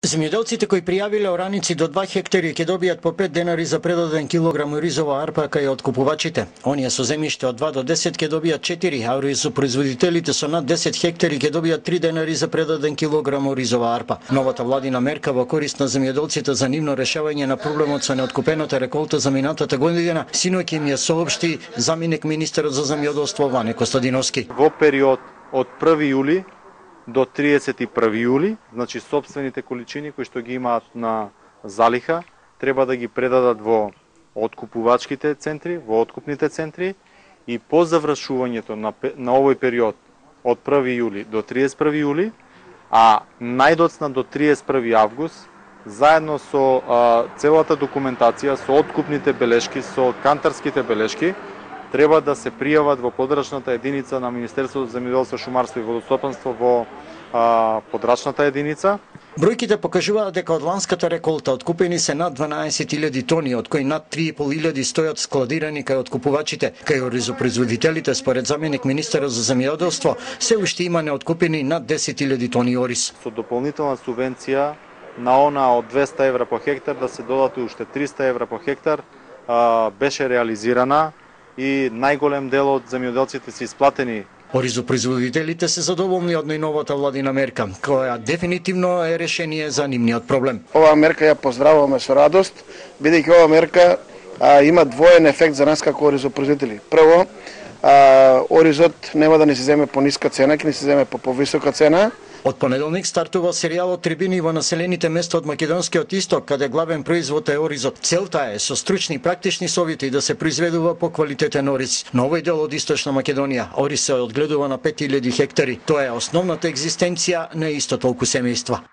Земјоделците кои пријавиле ораници до 2 хектари ќе добијат по 5 денари за предаден килограм ризова арпа кај откупувачите. Оние со земјиште од 2 до 10 ќе добијат 4, а ризопроизводителите со над 10 хектари ќе добијат 3 денари за предаден килограм ризова арпа. Новата владина мерка во корист на земјоделците за нивно решавање на проблемот со неоткупената реколта за минатата година, синоќ им ја соопшти заменик министерот за земјоделство Ване Костадиновски. Во период од 1 јули до 31 јули, значи сопствените количини кои што ги имаат на залиха, треба да ги предадат во откупувачките центри, во откупните центри и по завршувањето на овој период од 1 јули до 31 јули, а најдоцна до 31 август, заедно со целата документација, со откупните белешки, со кантарските белешки, треба да се пријават во подрачната единица на Министерството за земјоделство, шумарство и водостопанство во подрачната единица. Бројките покажуваат дека од ланската реколта откупени се над 12.000 тони, од кои над 3.500 стојат складирани кај откупувачите. Кај ризопроизводителите, според заменик министерот за земјоделство, се уште има неоткупени над 10.000 тони ориз. Со дополнителна субвенција на она од 200 евра по хектар да се додат уште 300 евра по хектар беше реализирана и најголем дел од земјоделците се исплатени. Ризопроизводителите се задоволни од најновата владина мерка, која дефинитивно е решение за нивниот проблем. Оваа мерка ја поздравуваме со радост, бидејќи оваа мерка има двоен ефект за нас како ризопроизводители. Прво, оризот нема да ни се земе по ниска цена, ќе ни се земе по повисока цена. Од понеделник стартува серијалот Трибини во населените места од македонскиот исток, каде главен производ е оризот. Целта е со стручни и практични совети да се произведува по квалитетен ориз. На овој дел од Источна Македонија ориз се одгледува на 5000 хектари. Тоа е основната екзистенција на исто толку семејства.